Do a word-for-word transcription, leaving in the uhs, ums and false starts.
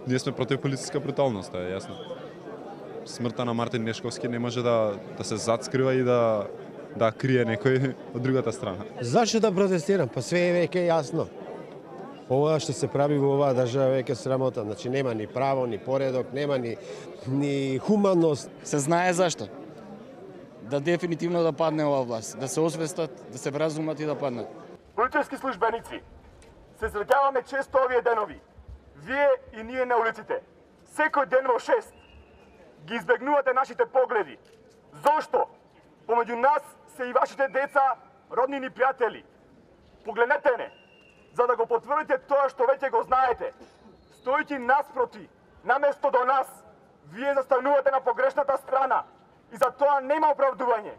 ние сме против полициска бруталност, е јасно. Смртта на Мартин Нешковски не може да да се зацкрива и да да крие некој од другата страна. Зашто да протестирам? Па све е веќе јасно. Ова што се прави во оваа држава веќе срамота, значи нема ни право, ни поредок, нема ни ни хуманност. Се знае зашто. Да дефинитивно да падне оваа власт, да се освестат, да се вразумат и да паднат. Полицейски службеници, се среќаваме често овие денови. Вие и ние на улиците. Секој ден во шест ги избегнувате нашите погледи. Зошто? Помеѓу нас се и вашите деца, роднини пријатели. Погледнете не, за да го потврдите тоа што веќе го знаете. Стојќи наспроти, наместо до нас, вие застанувате на погрешната страна и за тоа нема оправдување.